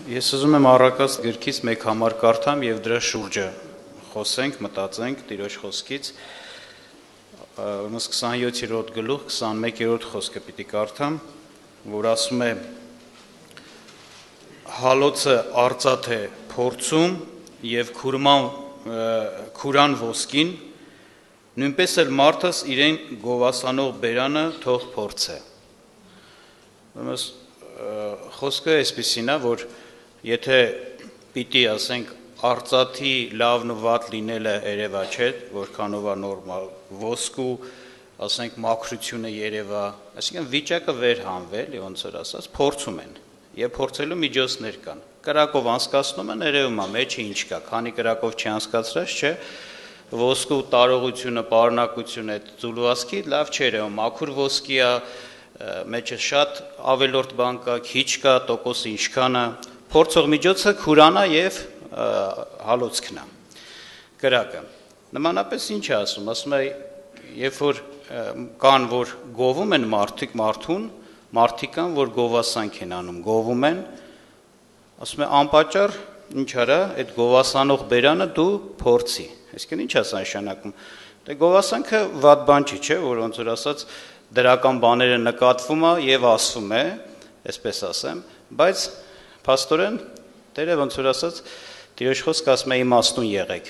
Ես ուզում եմ առակած գրքից մեկ համար կարդամ եւ դրա շուրջը խոսենք, մտածենք Տիրոջ խոսքից։ Ուրեմն 27-րդ գլուխ 21-րդ խոսքը պիտի կարդամ, որ ասում է. Հալոցը արծաթ է փորձում եւ քուրան ոսկին, նույնպես էլ մարդս իրեն գովասանող բերանը թող փորձե։ Ուրեմն խոսքը այսպեսին է, որ եթե պիտի ասենք արծաթի լավն ու վատ լինելը երևա չէ, որքանով է նորմալ, ոսկու ասենք մաքրությունը երևա, այսինքն վիճակը վերհանվել, ոնց որ ասած, փորձում են եւ փորձելու միջոցներ կան։ Կրակով անցկացնում են, երևում է մեջը ինչ կա, քանի կրակով չի անցկացրած, չէ, ոսկու տարողությունը, պարունակությունը այդ ձուլվածքի լավ չէ, մաքուր ոսկի է, մեջը շատ ավելորդ բան կա, քիչ կա, տոկոսը ինչքան է, փորձող միջոցը քուրանա եւ հալոցքն է, կրակը։ Նմանապես ինչ է ասում, ասում է, երբ որ կան, որ գովում են մարդիկ կան, որ գովասանք են անում, գովում են, ասում է, անպատճառ ինչ արա, այդ գովասանող բերանը դու փորձի։ Այսինքն ինչ է սա նշանակում։ Դե գովասանքը վատ բան չի, չէ, որ ոնց որ ասած դրական բաները նկատվում է եւ ասվում է, այսպես ասեմ, բայց փաստորեն Տերը ոնց որ ասած Տիրոջ խոսքը ասում է իմաստուն եղեք։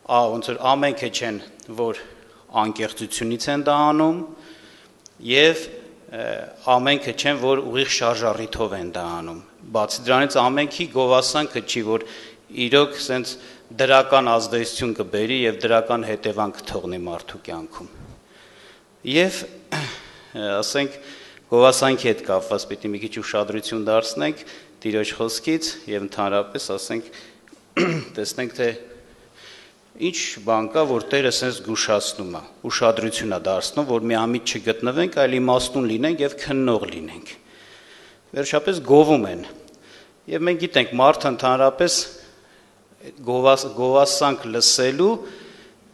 Ոնց որ ամենքը չեն, որ անկեղծությունից են դա անում եւ ամենքը չեն, որ ուղիղ շարժառիթով են դա անում։ Բացի դրանից ամենքի գովասանքը չի, որ իրոք սենց դրական ազդեցություն կբերի եւ դրական հետևանք կթողնի մարդու կյանքում։ Եվ ասենք գովասանքի հետ կապված պիտի մի քիչ ուշադրություն դարձնենք Տիրոջ խոսքից եւ ընդհանրապես ասենք տեսնենք թե ինչ բան կա, որ Տերը sense զգուշացնում է, ուշադրություն է դարձնում, որ մի ամիջ չգտնվենք, այլ իմաստուն լինենք եւ քննող լինենք։ Վերջապես գովում են։ Եվ մենք գիտենք, մարդը ընդհանրապես գովասանք լսելու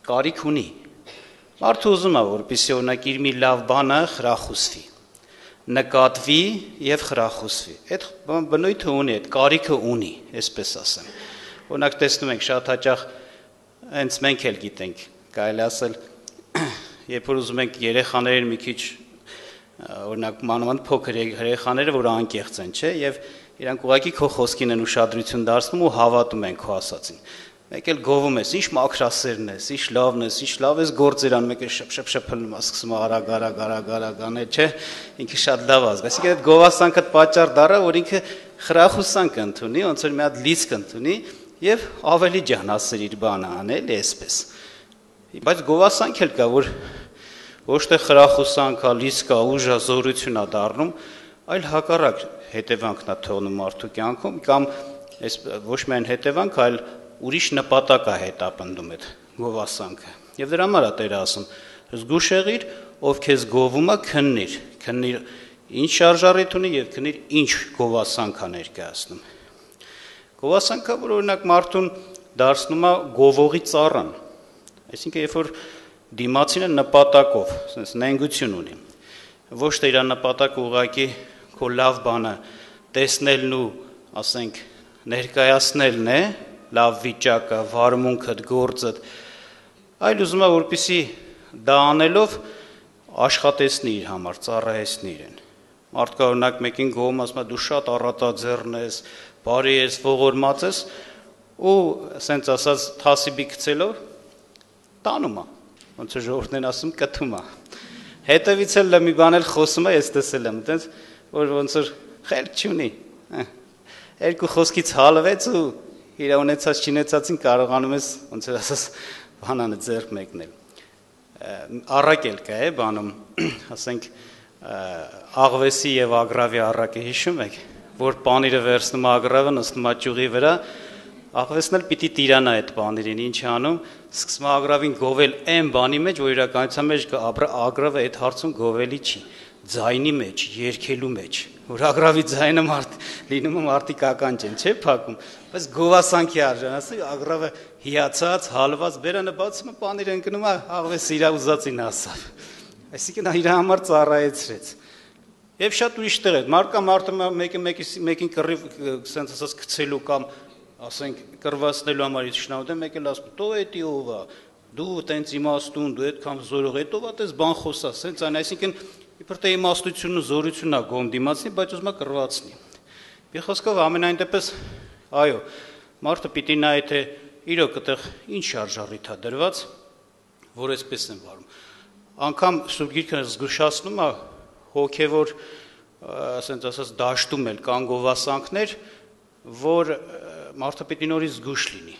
կարիք ունի։ Մարդը ուզում է, որպեսզի օրինակ իր մի լավ բանը խրախուսվի, նկատվի եւ խրախուսվի։ Այդ բնույթը ունի, այդ կարիքը ունի, այսպես ասեմ։ Օրինակ տեսնում ենք շատ հաճախ հենց մենք էլ գիտենք, կարելի ասել, երբ որ ուզում ենք երեխաներին մի քիչ օրինակ մանավանդ փոքր երեխաները, որ անկեղծ են, չէ, եւ իրանք ուղղակի քո խոսքին են ուշադրություն դարձնում ու հավատում են քո ասածին։ Մեկ էլ գովում ես, ինչ մաքրասերն ես, ինչ լավն ես, ինչ լավ ես գործեր անում, մեկ էլ շփշփշփլում ես, սկսում արագ անել, չէ, ինքը շատ լավ ազգ։ Այսինքն այդ գովասանքը պատճառ դառա, որ ինքը խրախուսանք ընդունի, ոնց որ մի հատ լիցք ընդունի եւ ավելի ջանասեր իր բանը անել, այսպես։ Բայց գովասանք էլ կա, որ ոչ թե խրախուսանք է, լիցք է, ուժ է, զորություն է դառնում, այլ հակառակ հետևանքն է թողնում մարդու կյանքում կամ այս ոչ միայն հետևանք, այլ ուրիշ նպատակ է հետապնդում այդ գովասանքը։ Եվ դրա համար է Տերը ասում. զգուշ եղիր, ով քեզ գովում է, քննիր ինչ շարժառիթ ունի եւ քննիր ինչ գովասանք է ներկայացնում։ Գովասանքը, որ օրինակ մարդուն դարձնում է գովողի ծառան։ Այսինքն երբ որ դիմացինը նպատակով, ասես նենգություն ունի, ոչ թե իր նպատակը ուղղակի քո լավ բանը տեսնելն ու, ասենք, ներկայացնելն է, լավ վիճակը, վարմունքդ, գործդ, այլ ուզում է, որպեսզի դա անելով աշխատեցնի իր համար, ծառայեցնի իրեն։ Մարդկա օրինակ մեկին գովում ասում է դու շատ առատաձեռն ես, բարի ես, ողորմած ես ու ասենց ասած թասիբի գցելով տանում է, ոնց որ ժողովուրդն են ասում կթում է։ Հետևից էլ մի բան էլ խոսում է, ես տեսել եմ, այտենց որ ոնց որ խելք չունի։ Երկու խոսքից հալվեց ու իր ունեցած չինեցածին կարողանում ես ոնց որ ասած բանանը ձեռք մեկնել։ Առակել կա է բանում, ասենք աղվեսի եւ ագրավի առակը հիշում եք, որ պանիրը վերցնում ագրավը նստում է ճյուղի վրա, աղվեսն էլ պիտի տիրանա այդ պանիրին, ինչ անում, սկսում է ագրավին գովել այն բանի մեջ, որ իրականության մեջ ագրավը այդ հարցում գովելի չի, ձայնի մեջ, երգելու մեջ, որ ագրավի ձայնը լինում է մարդիկ ականջ են, չէ՞ փակում, բայց գովասանքի արժան, ասի ագրավը հիացած, հալված, բերանը բացում է, պանիրը ընկնում է, աղվեսը իր ուզածին ասավ։ Այսինքն իր համար ծառայեցրեց։ Եվ շատ ուրիշ տեղ է, մարդը մեկին կռիվ սենց ասած գցելու կամ ասենք կռվածնելու համար իշխանություն մեկը ասում, «Դու էդի ով է, դու տենց իմաստուն, դու այդքան զորող, հետո այդպես բան խոսա», սենց այն, այսինքն իբր թե իմաստությունն ու զորությունն է գոհ դիմացնի, բայց ուզում է կռվածնի։ Մի խոսքով ամենայն դեպս, այո, մարդը պիտի նայի թե իրոք այդտեղ ինչ շարժառիթ է դրված, որ այսպես են վարում։ Անգամ Սուրբ Գիրքը զգուշացնում է հոգևոր, ասենց ասած, դաշտում էլ կան գովասանքներ, որ մարդը պիտի նորից զգուշ լինի։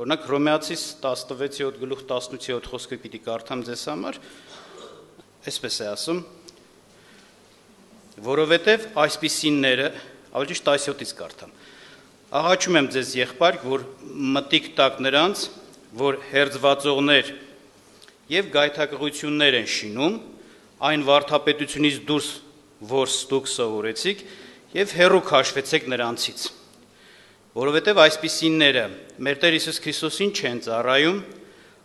Օրինակ Հռոմեացիս 16:18 խոսքը պիտի կարդամ ձեզ համար, այսպես է ասում, որովհետև այսպիսինները, ավելի ճիշտ 17-ից կարդամ, աղաչում եմ ձեզ եղբայր, որ մտիկ տակ նրանց, որ հերձվածողներ եւ գայթակղություններ են շինում, այն վարդապետությունից դուրս, որ դուք սովորեցիք, եւ հեռու քաշվեցեք նրանցից։ Որովհետև այսպիսինները մեր Տեր Հիսուս Քրիստոսին չեն ծառայում,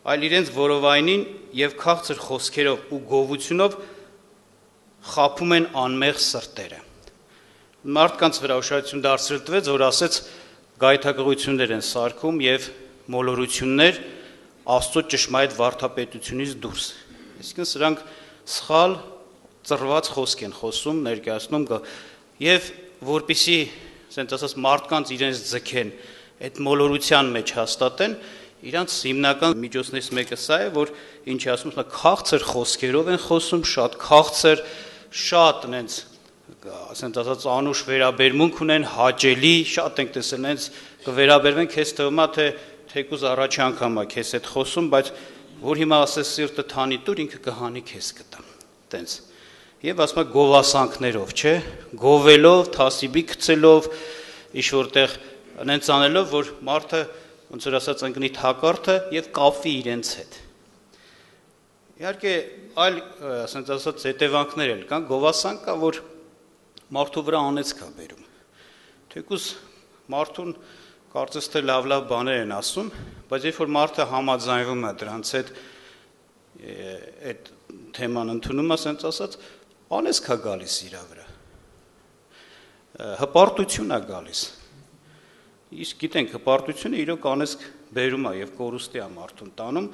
այլ իրենց որովայնին եւ քաղցր խոսքերով ու գովությունով խաբում են անմեղ սրտերը։ Մարդկանց վրա ուշադրություն դարձրել տվեց, որ ասեց գայթակղություններ են սարքում եւ մոլորություններ Աստծո ճշմարիտ վարդապետությունից դուրս։ Այսինքն սրանք սխալ ծռված խոսք են խոսում, ներկայացնում եւ որպիսի ասենք ասած մարդկանց իրենց ձգեն, այդ մոլորության մեջ հաստատեն, իրանց հիմնական միջոցներից մեկը սա է, որ ինչի ասում են, քաղցր խոսքերով են խոսում, շատ քաղցր, շատ այնց ասենք ասած անուշ վերաբերմունք ունեն, հաճելի, շատ ենք տեսել, այնց կվերաբերվեն, քեզ թվում է թե թեկուզ առաջի անգամ է քեզ հետ խոսում, բայց որ հիմա ասես սիրտը թանի տուր, ինքը կհանի քեզ կտա։ Տենց։ Եվ ասում է գովասանքներով, չէ, գովելով, թասիբի գցելով, ինչ որտեղ այնց անելով, որ մարդը ոնց որ ասած ընկնի թակարդը եւ կապվի իրենց հետ։ Իհարկե, այլ ասենք ասած հետևանքներ էլ կան, գովասանք կա, որ մարդու վրա անեծք է բերում։ Թեկուզ մարդուն կարծես թե լավ բաներ են ասում, բայց երբ որ մարդը համաձայնվում է դրանց հետ, այդ թեման ընդունում է, ասենց ասած, անեծք է գալիս իր վրա, հպարտություն է գալիս, իսկ գիտենք, հպարտությունը իրոք անեծք բերում է և կորուստի է մարդուն տանում,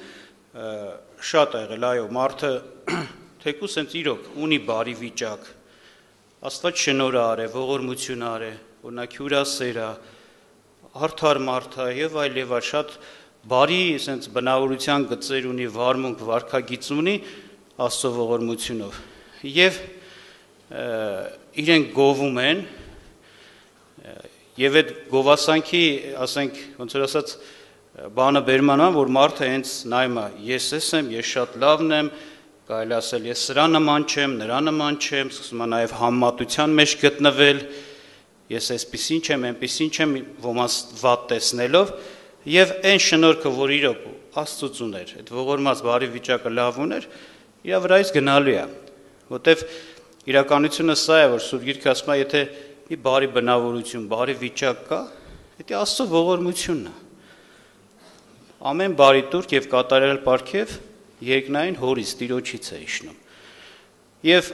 շատ է եղել, այո, մարդը թեկուզ հենց իրոք ունի բարի վիճակ, Աստված շնորհ արե, ողորմություն արե, օրինակ հյուրասեր է, արդար մարդ է եւ այլ շատ բարի sense բնավորության գծեր ունի, վարմունք, վարքագիծ ունի Աստծո ողորմությունով եւ իրենք գովում են եւ այդ գովասանքի, ասենք, ոնց որ ասած բանը բերմանա, որ մարդը հենց նայում է, ես եմ, ես շատ լավն եմ, կարելի ասել ես սրա նման չեմ, նրա նման չեմ, սկսում է նաեւ համեմատության մեջ գտնվել, ես այսպեսին չեմ, այնպեսին չեմ, ոմանց վատ տեսնելով եւ այն շնորհքը, որ իրոք Աստծուց ուներ, այդ ողորմած բարի վիճակը լավ ուներ, իր վրայից գնալու է, որտեվ իրականությունը սա է, որ Սուրբ Գիրքը ասում է, եթե մի բարի բնավորություն, բարի վիճակ կա, դա Աստծո ողորմությունն է։ Ամեն բարի տուրք եւ կատարյալ պարգև երկնային հորից Տիրոջից է իջնում։ Եվ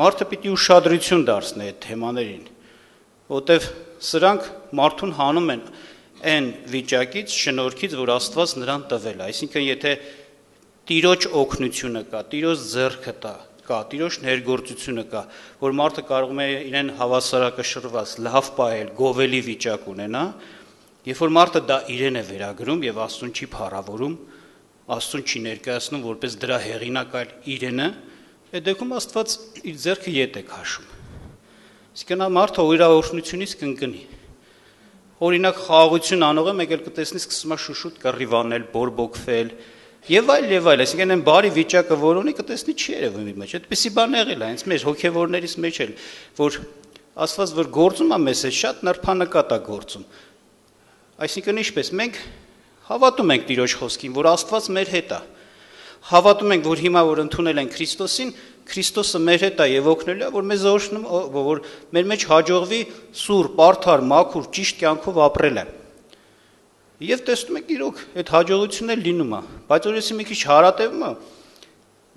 մարդը պիտի ուշադրություն դարձնի այդ թեմաներին, որտեվ սրանք մարդուն հանում են այն վիճակից, շնորհքից, որ Աստված նրան տվել է, այսինքն եթե Տիրոջ օգնությունը կա, Տիրոջ ձեռքը կա, Տիրոջ ներգործությունը կա, որ մարդը կարող է իրեն հավասարակշռված, լավ պահել, գովելի վիճակ ունենա, երբ որ մարդը դա իրեն է վերագրում եւ Աստծուն չի փառավորում, Աստծուն չի ներկայացնում որպես դրա հեղինակ, այլ իրենը, այդ դեպքում Աստված իր ձեռքը ետ է քաշում։ Իսկ նա մարդը իր օրհնությունից կընկնի։ Օրինակ խաղաղություն անողը մեկ էլ կտեսնի սկսում է շուշուտ կռիվանել, բորբոքվել եւ այլ, այսինքն այն բարի վիճակը, որ ունի, կտեսնի չի երևում իր մեջ։ Այդպեսի բան եղել է, հենց մեր հոգեվորներից մեջ էլ, որ Աստված որ գործում է մեզ հետ, շատ նրբանկատ է գործում։ Այսինքն ինչպես մենք հավատում ենք Տիրոջ խոսքին, որ Աստված մեր հետ է։ Հավատում ենք, որ հիմա որ ընդունել ենք Քրիստոսին, Քրիստոսը մեր հետ է եւ օգնելու է, որ մեզ օրհնում, որ մեր մեջ հաջողվի սուրբ, արդար, մաքուր, ճիշտ կյանքով ապրելը։ Եվ տեսնում եք իրոք այդ հաջողությունն էլ լինում է, բայց որ եսի մի քիչ հարատևում է,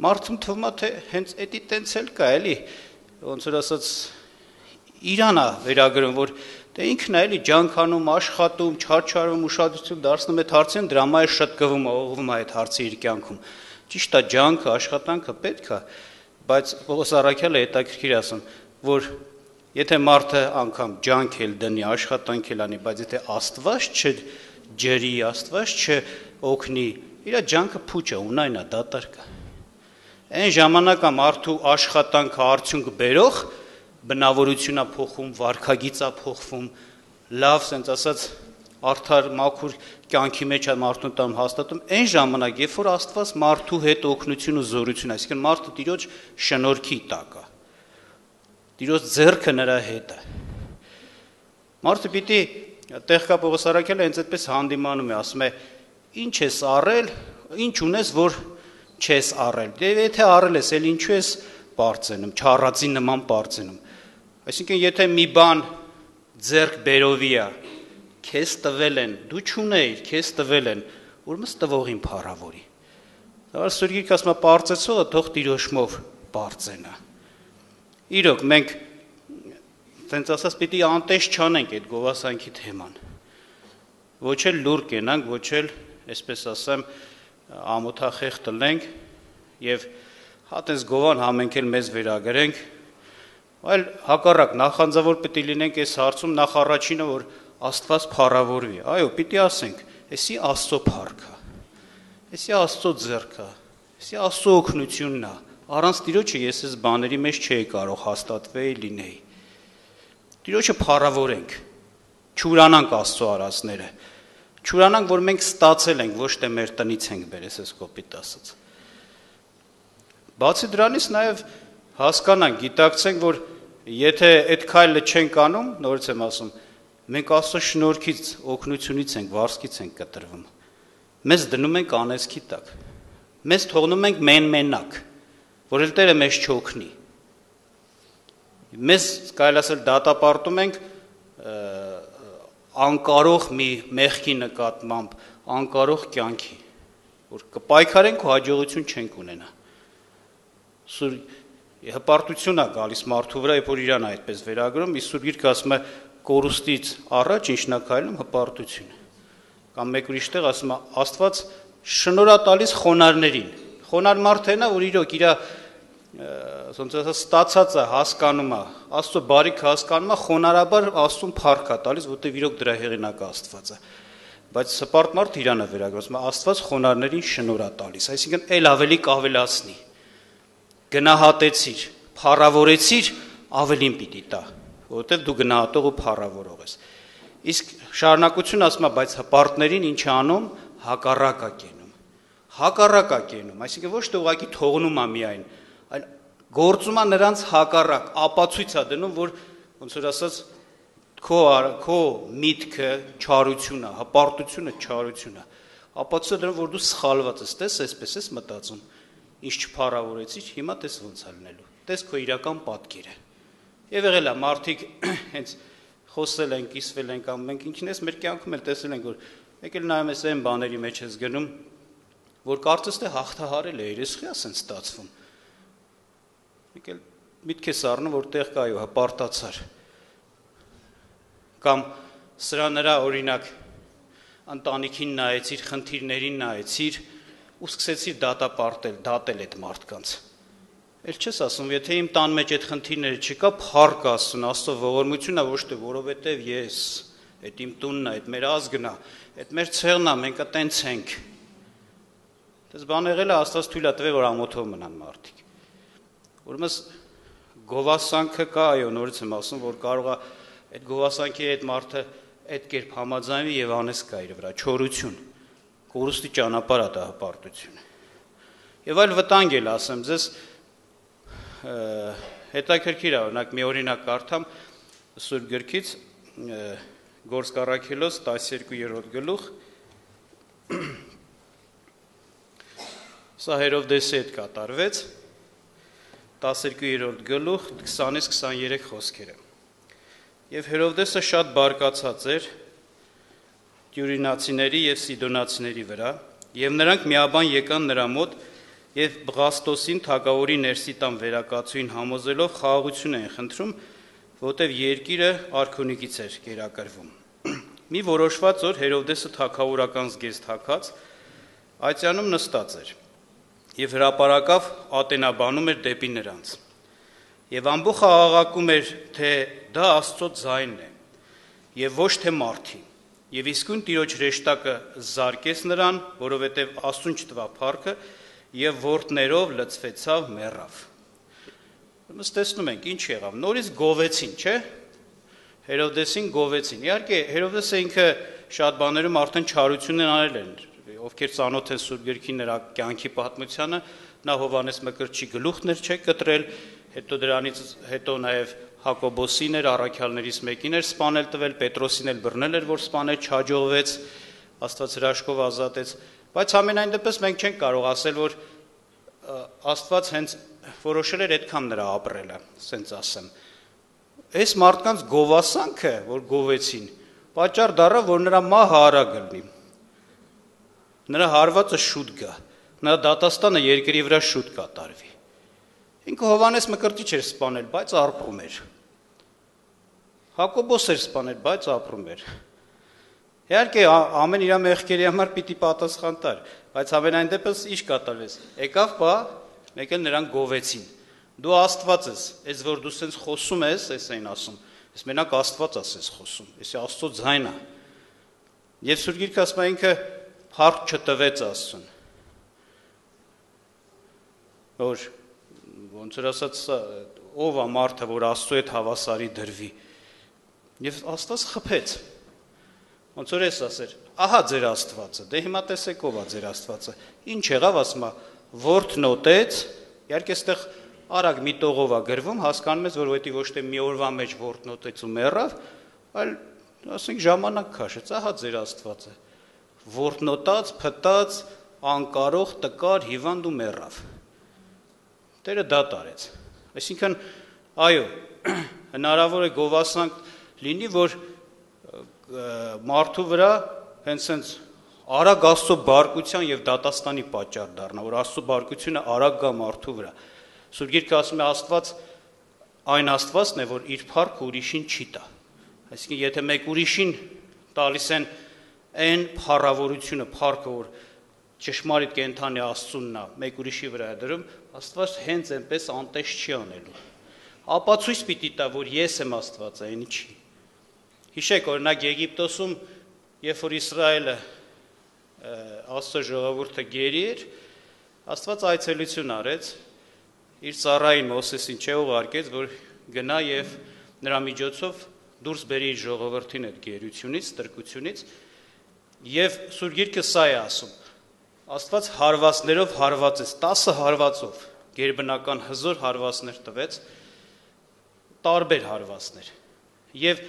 մարդուն թվում է թե հենց էդի տենց էլ կա, էլի։ ոնց որ ասած Իրանա վերագրում, որ դե ինքն է էլի ջանքանում, աշխատում, չարչարում, ուշադրություն դարձնում այդ հարցին, դրա համար է շտկվում, օղվում է այդ հարցը իր կյանքում։ Ճիշտ է, ջանքը, աշխատանքը պետք է, բայց Պողոս առաքյալը հետաքրքիր ասում, որ եթե մարդը անգամ ջանք էլ դնի, աշխատանք էլ անի, բայց եթե Աստված չջրի, Աստված չօգնի, իր ջանքը փուչ է, ունայն է, դատարկ է։ Այն ժամանակ է մարդու աշխատանքը արդյունք բերող բնավորությունա փոխում, վարքագիծա փոխվում, լավ, ասենց ասած, արդար մաքուր կյանքի մեջ է մարդուն տամ հաստատում, այն ժամանակ, երբ որ Աստված մարդու հետ օգնություն ու զորություն, այսինքն մարդը Տիրոջ շնորհքի տակ է, Տիրոջ ձեռքը նրա հետ է։ Մարդը պիտի տեղ կա Պողոս առաքյալը հենց այդպես հանդիմանում է, ասում է, ինչ ես առել, ինչ ունես, որ չես առել։ Դե եթե առել ես, էլ ինչու ես բարձենում, չառածի նման բարձենում։ Այսինքն, եթե մի բան ձեռք բերովի է, քեզ տվել են, դու չունեիր, քեզ տվել են, ուրեմն տվողին փառավորի։ Դա Սուրբ Գիրքը ասում է, բարձեցողը թող Տիրոջմով բարձենա։ Իրոք, մենք տենց ասած պիտի անտես չանենք այդ գովասանքի թեման։ Ոչ էլ լուր կենանք, ոչ էլ, այսպես ասեմ, ամոթախեղ տնենք եւ հատես գովան համենք էլ մեզ վերագրենք, այլ հակառակ նախանձավոր պիտի լինենք այս հարցում նախ առաջինը, որ Աստված փառավորվի։ Այո, պիտի ասենք, էսի Աստծո փառքը, էսի Աստծո ձեռքը, էսի Աստծո օգնությունն է։ Առանց Տիրոջը ես այս բաների մեջ չէի կարող հաստատվել լինեի։ Տիրոջը փառավորենք, չուրանանք Աստծո արածները, չուրանանք, որ մենք ստացել ենք, ոչ թե մեր տնից ենք բերես, այս կոպիտ ասած։ Բացի դրանից նաև հասկանանք, գիտակցենք, որ եթե այդ քայլը չենք անում, նորից եմ ասում, մենք Աստծո շնորհքից, օգնությունից ենք, վարձքից ենք կտրվում։ Մեզ դնում ենք անեծքի տակ։ Մեզ թողնում ենք մենակ, որ էլ Տերը մեզ չօգնի։ Մեզ կարելի ասել դատապարտում ենք անկարող մի մեղքի նկատմամբ, անկարող կյանքի, որ կպայքարենք ու հաջողություն չենք ունենա։ Հպարտություն է գալիս մարդու վրա, երբ որ իրան է այդպես վերագրում, իսկ Սուրբ Գիրքը ասում է կորուստից առաջ ինչն է քայլում հպարտությունը։ Կամ մեկ ուրիշ տեղ ասում է Աստված շնորհ է տալիս խոնարհներին։ Խոնարհ մարդն է, որ իրոք իր ոնց ասած ստացած է, հասկանում է, Աստծո բարիքը հասկանում է, խոնարհաբար Աստծուն փառք է տալիս, որտեղ իրոք դրա հեղինակը Աստված է։ Բայց հպարտ մարդը իրան է վերագրում, Աստված խոնարհներին շնորհ է տալիս, այսինքն ել ավելի կավելացնի։ Գնահատեցիր, փառավորեցիր, ավելին պիտի տա, որովհետև դու գնահատող ու փառավորող ես։ Իսկ շարունակություն ասում է, բայց հպարտներին ինչ անում, հակառակ է կենում։ Հակառակ է կենում, այսինքն ոչ թե ուղղակի թողնում է միայն, այլ գործում է նրանց հակառակ, ապացույց է դնում, որ ոնց որ ասած քո միտքը չարություն է, հպարտությունը չարություն է։ Ապացույց է դնում, որ դու սխալված ես, տես այսպես ես մտածում, ինչ չփառավորեցիր, հիմա տես ոնց է լինելու։ Տես քո իրական պատկերը։ Եվ եղել է մարդիկ հենց խոսել են, կիսվել են կամ մենք ինքնես մեր կյանքում էլ տեսել ենք, որ մեկ էլ նայում ես այն բաների մեջ ես գնում, որ կարծես թե հաղթահարել է, երեսխի ասեն ստացվում։ Մեկ էլ միտք ես առնում, որ տեղ կա այո հպարտացար։ Կամ սրա նրա օրինակ ընտանիքին նայեցիր, խնդիրներին նայեցիր ու սկսեցիր դատել այդ մարդկանց։ Էլ չես ասում, եթե իմ տան մեջ այդ խնդիրները չկա, փառք Աստծուն, Աստծո ողորմությունն է, ոչ թե որովհետև ես, այդ իմ տունն է, այդ մեր ազգն է, այդ մեր ցեղն է, մենք այտենց ենք։ Դες բան եղել է, Աստված թույլ է տվել, որ ամոթով մնան մարդիկ։ Ուրեմն գովասանքը կա, այո, նորից եմ ասում, որ կարող է այդ գովասանքի այդ մարդը այդ կերպ համաձայնվի եւ անես կա իր վրա, չորություն, կորուստի ճանապարհ է դա հպարտությունը։ Եվ այլ վտանգ էլ ասեմ ձեզ, հետաքրքիր է, օրինակ մի օրինակ կարդամ Սուրբ Գրքից, Գործք առաքելոց 12-րդ գլուխ, սա Հերովդեսի հետ կատարվեց, 12-րդ գլուխ 20-ից 23 խոսքերը։ Եվ Հերովդեսը շատ բարկացած էր Տյուրինացիների եւ Սիդոնացիների վրա, եւ նրանք միաբան եկան նրա մոտ եւ Բղաստոսին թագավորի ներսի տան վերակացուին համոզելով խաղաղություն էին խնդրում, որտեղ երկիրը արքունիկից էր կերակրվում։ Մի որոշված օր Հերովդեսը թագավորական զգեստ հագած այցյանում նստած էր եւ հրապարակավ ատենաբանում էր դեպի նրանց։ Եվ ամբողջը աղաղակում էր, թե դա Աստծո ձայնն է եւ ոչ թե մարդի։ Եվ իսկույն Տիրոջ հրեշտակը զարկեց նրան, որովհետեւ Աստծուն չտվավ փառքը եւ որդներով լցվեցավ մեռավ։ Ըստ տեսնում ենք ինչ եղավ։ Նորից գովեցին, չէ՞։ Հերովդեսին գովեցին։ Իհարկե Հերովդեսը ինքը շատ բաներում արդեն չարություններ արել են, ովքեր ծանոթ են Սուրբ Գրքի նրա կյանքի պատմությանը, նա Հովհաննես Մկրտչի գլուխներ չէ կտրել, հետո դրանից հետո նաև Հակոբոսին էր, առաքյալներից մեկին էր սպանել տվել, Պետրոսին էլ բռնել էր, որ սպանել չհաջողվեց, Աստված հրաշքով ազատեց, բայց ամենայն դեպս մենք չենք կարող ասել, որ Աստված հենց որոշել էր այդքան նրա ապրելը, ասենց ասեմ։ Այս մարդկանց գովասանքը, որ գովեցին, պատճառ դառավ, որ նրա մահը արագ լինի։ Նրա հարվածը շուտ գա, նրա դատաստանը երկրի վրա շուտ կատարվի։ Ինքը Հովհաննես Մկրտիչ էր սպանել, բայց ապրում էր։ Հակոբոս էր սպանել, բայց ապրում էր։ Իհարկե ամեն իր մեղքերի համար պիտի պատասխան տար, բայց ամենայն դեպս ինչ կատարվեց։ Եկավ բա, մեկ էլ նրան գովեցին։ Դու Աստված ես, այս որ դու սենց խոսում ես, էս այն ասում, ես մենակ Աստված ասես խոսում, էս Աստծո ձայնը։ Եվ Սուրբ Գիրքը ասում է ինքը փառք չտվեց Աստծուն։ Որ ոնց որ ասած ով է մարդը, որ Աստծո հետ հավասարի դրվի։ Եվ Աստված խփեց։ Ոնց որ էս ասեր, ահա ձեր Աստվածը, դե հիմա տեսեք ով է ձեր Աստվածը։ Ինչ եղավ, ասում է, որդն նոտեց, իհարկե այստեղ արագ մի տողով է գրվում, հասկանում ես, որ որովհետեւ ոչ թե մի օրվա մեջ որդն նոտեց ու մեռավ, այլ ասենք ժամանակ քաշեց, ահա ձեր Աստվածը։ Որդն նոտած, փտած, անկարող, տկար, հիվանդ ու մեռավ։ Տերը դա տարեց։ Այսինքն, այո, հնարավոր է գովասանք լինի, որ մարդու վրա հենց արագ Աստծո բարկության եւ դատաստանի պատճառ դառնա, որ Աստծո բարկությունը արագ գա մարդու վրա։ Սուրբ Գիրքը ասում է Աստված այն Աստվածն է, որ իր փառքը ուրիշին չի տա։ Այսինքն, եթե մեկ ուրիշին տալիս են այն փառավորությունը, փառքը, որ ճշմարիտ կենթանի Աստծունն է, մեկ ուրիշի վրա է դրում, Աստված հենց այնպես անտես չի անելու։ Ապացույց պիտի տա, որ ես եմ Աստվածը, այն չի։ Հիշեք, օրինակ Եգիպտոսում, երբ որ Իսրայելը Աստծո ժողովուրդը գերի էր, Աստված այցելություն արեց, իր ծառային Մովսեսին չուղարկեց, որ գնա եւ նրա միջոցով դուրս բերի իր ժողովրդին այդ գերությունից, տրկությունից, եւ Սուրբ Գիրքը սա է ասում. Աստված հարվածներով հարվածեց, 10 հարվածով, գերբնական հզոր հարվածներ տվեց, տարբեր հարվածներ։ Եվ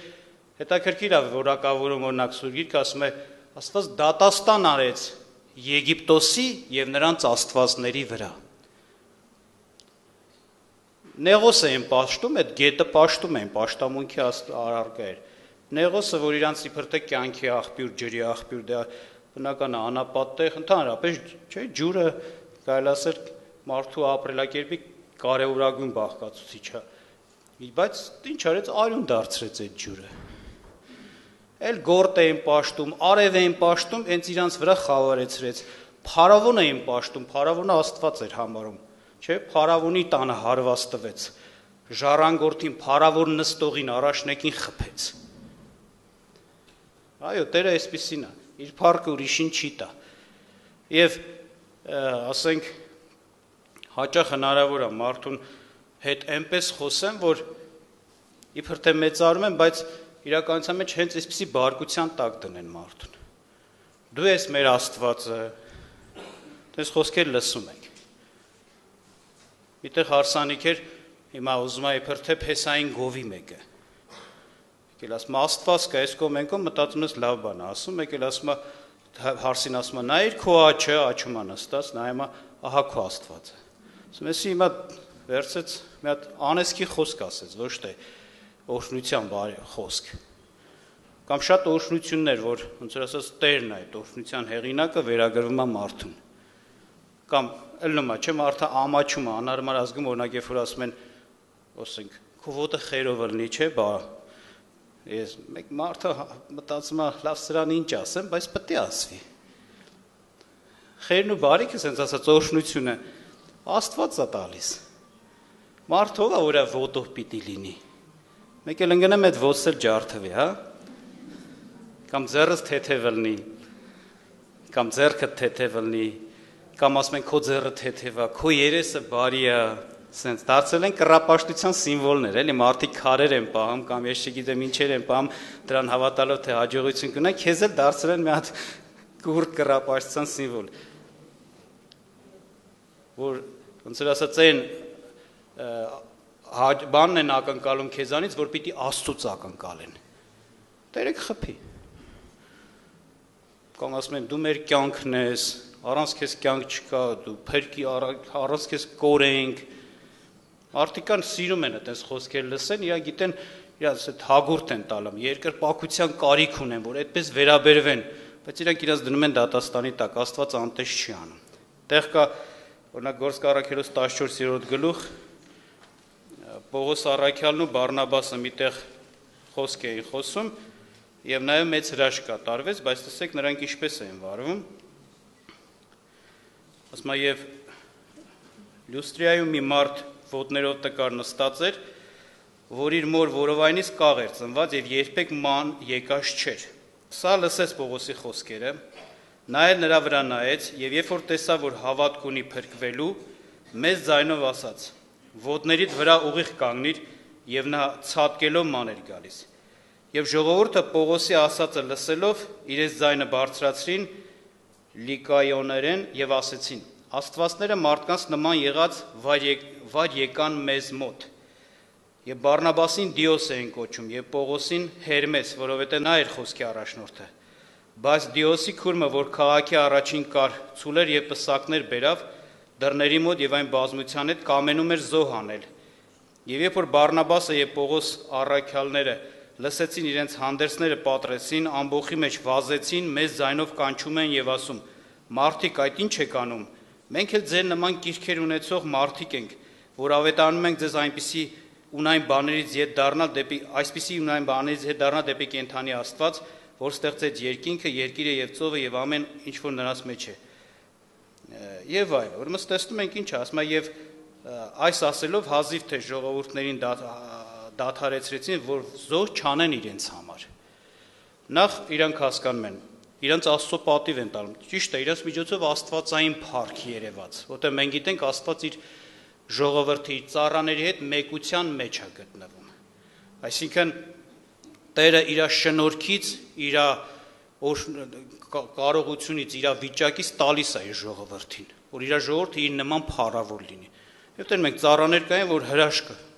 հետաքրքիր է որակավորում օրինակ Սուրբ Գիրքը ասում է, Աստված դատաստան արեց Եգիպտոսի եւ նրանց աստվածների վրա։ Նեղոսը են պաշտում, այդ գետը պաշտում են, պաշտամունքի առարկա էր։ Նեղոսը, որ իրանց իբր թե կյանքի աղբյուր, ջրի աղբյուր, դա բնական է, անապատ տեղ, ընդհանրապես, չէ, ջուրը կարելի ասել մարդու ապրելակերպի կարևորագույն բաղկացուցիչ է։ Բայց ինչ արեց, արյուն դարձրեց այդ ջուրը։ Էլ գորտ էին պաշտում, արև էին պաշտում, հենց իրանց վրա խավարեցրեց։ Փարավոն էին պաշտում, փարավոնը Աստված էր համարում, չէ, փարավոնի տանը հարված տվեց։ Ժառանգորդին, փարավոր նստողին, առաջնեկին խփեց։ Այո, Տերը այսպիսին է, իր փառքը ուրիշին չի տա։ Եվ ասենք հաճախ հնարավոր է մարդուն հետ այնպես խոսեմ, որ իբր թե մեծարում են, բայց իրականության մեջ հենց այսպիսի բարկության տակ դնեն մարդուն։ Դու ես մեր Աստվածը, դες խոսքեր լսում ենք։ Միտեղ հարսանիք էր, հիմա ուզում է իբր թե Փեսային գովի մեկը։ Եկել ասում է Աստված կա, այս կողմ ենք մտածում ես լավ բան է ասում, եկել ասում է հարսին ասում է նայիր քո աչը, աչում է նստած, նայում է ահա քո Աստվածը։ Ասում ես հիմա վերցեց մի հատ անեսքի խոսք ասեց, ոչ թե օրհնության խոսք։ Կամ շատ օրհնություններ, որ ոնց որ ասած Տերն է այդ օրհնության հեղինակը վերագրվում է մարդուն։ կամ ըլնումա, չէ՞ մարդը ամաչում է, անհարմար ազգում օրինակ երբ որ ասում են, ասենք, քո ոտը խերով ըլնի, չէ՞, բա ես մեկ մարդը մտածում է, լավ սրան ինչ ասեմ, բայց պետք է ասվի։ Խերն ու բարիքը, ասենց ասած, օրհնությունը Աստված է տալիս։ Մարդը ով է, որ ոտով պիտի լինի։ Մեկ էլ ընկնեմ այդ ոտս էլ ջարդվի, հա։ Կամ ձեռս թեթև ըլնի, կամ ձեռքը թեթև ըլնի, կամ ասում են քո ձեռը թեթև է, քո երեսը բարի է, ասենց դարձել են կռապաշտության սիմվոլներ, էլի մարդիկ քարեր են պահում, կամ ես չգիտեմ ինչեր են պահում, դրան հավատալով թե հաջողություն կունենա, քեզ էլ դարձել են մի հատ կուրտ կռապաշտության սիմվոլ։ Որ ոնց որ ասած են բանն են ակնկալում քեզանից, որ պիտի Աստծուց ակնկալեն։ Տերը կխփի։ Կամ ասում են դու մեր կյանքն ես, առանց քեզ կյանք չկա, դու փրկի առանց քեզ կորենք։ Մարդիկան սիրում են այդպես խոսքեր լսեն, իրանք գիտեն, իրանք այդ հագուրտ են տալում, երկրպագության կարիք ունեն, որ այդպես վերաբերվեն, բայց իրանք իրաց դնում են դատաստանի տակ, Աստված անտես չի անում։ Տեղ կա օրինակ Գործք առաքելոց 14-րդ գլուխ Պողոս առաքյալն ու Բարնաբասը միտեղ խոսք էին խոսում եւ նաեւ մեծ հրաշք կատարվեց, բայց տեսեք նրանք ինչպես էին վարվում։ Ասում է եւ Լյուստրիայում մի մարդ ոտներով տկար նստած էր, որ իր մոր որովայնից կաղ էր ծնված եւ երբեք ման եկած չէր։ Սա լսեց Պողոսի խոսքերը, նա էլ նրա վրա նայեց եւ երբ որ տեսավ, որ հավատք ունի փրկվելու, մեծ ձայնով ասաց. «Ոտներիդ վրա ուղիղ կանգնիր», եւ նա ցատկելով ման էր գալիս։ Եվ ժողովուրդը Պողոսի ասածը լսելով իրենց ձայնը բարձրացրին լիկայոներեն եւ ասեցին. «Աստվածները մարդկանց նման եղած վար եկան մեզ մոտ»։ Եվ Բարնաբասին Դիոս էին կոչում եւ Պողոսին Հերմես, որովհետեւ նա էր խոսքի առաջնորդը։ Բայց Դիոսի քուրմը, որ քաղաքի առաջին կար, ցուլեր եւ պսակներ բերավ դռների մոտ եւ այն բազմության հետ կամենում էր զոհ անել։ Եվ երբ որ Բարնաբասը եւ Պողոս առաքյալները լսեցին իրենց հանդերձները պատրեցին, ամբոխի մեջ վազեցին, մեծ ձայնով կանչում են եւ ասում. «Մարդիկ, այդ ինչ եք անում։ Մենք էլ ձեր նման կիրքեր ունեցող մարդիկ ենք, որ ավետարանում ենք ձեզ այսպիսի ունայն բաներից ետ դառնալ դեպի կենդանի Աստված, որ ստեղծեց երկինքը, երկիրը եւ ծովը եւ ամեն ինչ որ նրանց մեջ է»։ Եվ այլ, ուրեմն տեսնում ենք ինչ ասում է եւ այս ասելով հազիվ թե ժողովուրդներին դադարեցրեցին, որ զոհ չանեն իրենց համար։ Նախ իրանք հասկանում են, իրանք Աստծո պատիվ են տալում։ Ճիշտ է, իրանք միջոցով աստվածային փառք երևաց, որտեղ մենք գիտենք Աստված իր ժողովրդի ծառաների հետ մեկության մեջ է գտնվում։ Այսինքն Տերը իր շնորհքից, իր կարողությունից, իր վիճակից տալիս է իր ժողովրդին, որ իր ժողովուրդը իր նման փառավոր լինի։ Եվ դեռ մենք ծառաներ կային, որ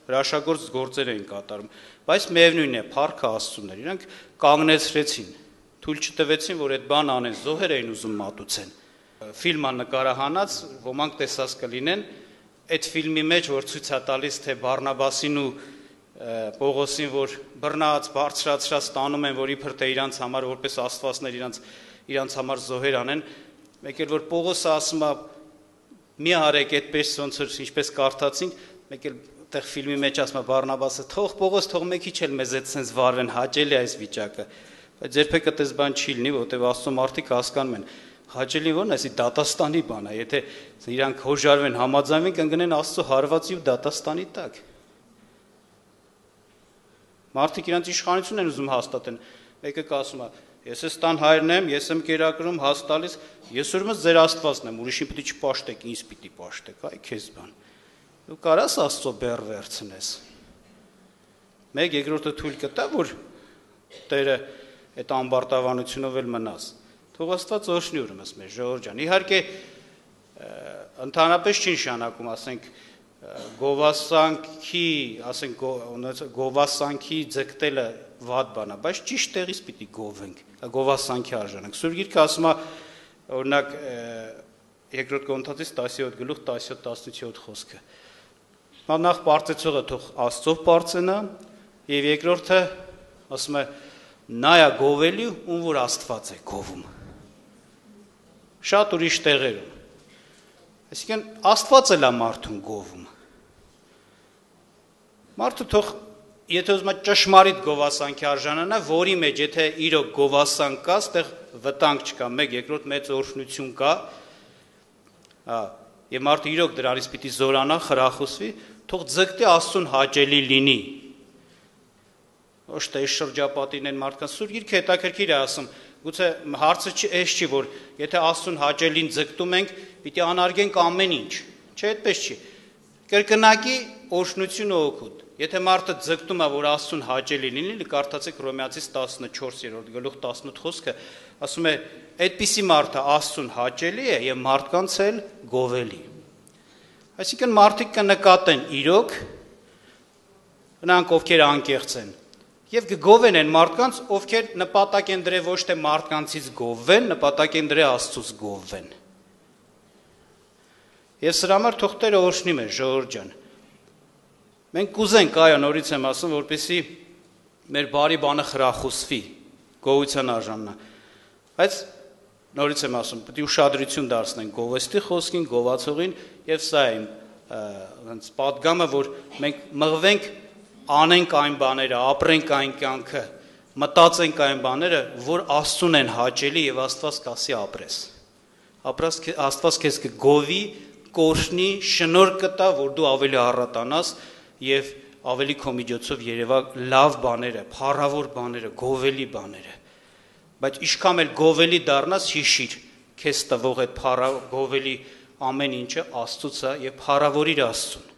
հրաշագործ գործեր էին կատարում, բայց միևնույն է, փառքը Աստծուն էր։ Իրանք կանգնեցրեցին, թույլ չտվեցին, որ այդ բան անեն, զոհեր էին ուզում մատուցեն։ Ֆիլմը նկարահանած, ոմանք տեսած կլինեն, այդ ֆիլմի մեջ, որ ցույց է տալիս, թե Բարնաբասին ու Պողոսին, որ բռնած, բարձրացրած տանում են, որ իբր թե իրանց համար որպես աստվածներ իրանց համար զոհեր անեն, մեկ էլ որ Պողոսը ասում է մի արեք այդպես ոնց որ ինչպես կարդացինք, մեկ էլ այդտեղ ֆիլմի մեջ ասում է Բարնաբասը թող Պողոս թող մեկ քիչ էլ մեզ այդ sense վարվեն, հաճելի է այս վիճակը, բայց երբեք այդպես բան չի լինի, որտեղ Աստծո մարդիկ հասկանում են հաճելի ո՞րն է, այսի դատաստանի բան է, եթե իրանք հոժարվեն, համաձայնվեն, կընկնեն Աստծո հարվածի ու դատաստանի տակ։ Մարդիկ իրանց իշխանություն են ուզում հաստատեն, մեկը ասում է, ես ես տան հայրն եմ, ես եմ կերակրում, հաս տալիս, ես ուրեմն ձեր Աստվածն եմ, ուրիշին պիտի չպաշտեք, ինձ պիտի պաշտեք, այ քեզ բան։ Դու կարաս Աստծո բեռ վերցնես։ Մեկ երկրորդը թույլ կտա, որ Տերը այդ ամբարտավանությունով էլ մնաս։ Թող Աստված օրհնի ուրեմն մեր ժողովուրդ ջան։ Իհարկե ընդհանրապես չի նշանակում, ասենք գովասանքի, ասենք գովասանքի ձգտելը վատ բան է, բայց ճիշտ տեղից պիտի գովենք, գովասանքի արժանանք։ Սուրբ Գիրքը ասում է, օրինակ երկրորդ Կորինթացիս 10-րդ գլուխ 17-17 խոսքը։ Նախ պարծեցողը թող Աստծով պարծենա, եւ երկրորդը ասում է նա է գովելի, ում որ Աստված է գովում։ Շատ ուրիշ տեղերում։ Այսինքն Աստված էլ է մարդուն գովում։ Մարդը թող եթե ուզում է ճշմարիտ գովասանքի արժանանա, որի մեջ եթե իրոք գովասանք կա, այդտեղ վտանգ չկա, մեկ երկրորդ մեծ օրհնություն կա, եւ մարդը իրոք դրանից պիտի զորանա, խրախուսվի, թող ձգտի Աստծուն հաճելի լինի։ Ոչ թե շրջապատին են մարդկանց սուր գիրքը հետաքրքիր է ասում, գուցե հարցը չի, որ եթե Աստծուն հաճելին ձգտում ենք, պիտի անարգենք ամեն ինչ, չէ, այդպես չի։ Կրկնակի օրհնություն ու օգուտ։ Եթե մարդը ձգտում է, որ Աստծուն հաճելի լինի, կարդացեք Հռոմեացիս 14-րդ գլուխ 18 խոսքը, ասում է, այդպիսի մարդը Աստծուն հաճելի է եւ մարդկանց էլ գովելի։ Այսինքն մարդիկ կնկատեն իրոք, նրանք ովքեր անկեղծ են, եւ կգովեն են մարդկանց, ովքեր նպատակ են դրել ոչ թե մարդկանցից գովվեն, նպատակ են դրել Աստծուց գովվեն։ Եվ սրա համար թող Տերը օրհնի մեզ, ժողովուրդ ջան։ Մենք կուզենք, այո, նորից եմ ասում, որպեսզի մեր բարի բանը խրախուսվի, գոհության արժանանա։ Բայց նորից եմ ասում, պետք է ուշադրություն դարձնենք գովեստի խոսքին, գովացողին, եւ սա է ոնց պատգամը, որ մենք մղվենք, անենք այն բաները, ապրենք այն կյանքը, մտածենք այն բաները, որ Աստծուն են հաճելի եւ Աստված կասի ապրես։ Աստված քեզ կգովի, կօրհնի, շնորհ կտա, որ դու ավելի առատանաս եւ ավելի քո միջոցով երևա լավ բաները, փառավոր բաները, գովելի բաները։ Բայց ինչքան էլ գովելի դառնաս, հիշիր, քեզ տվող այդ գովելի ամեն ինչը Աստծուց է եւ փառավորիր Աստծուն։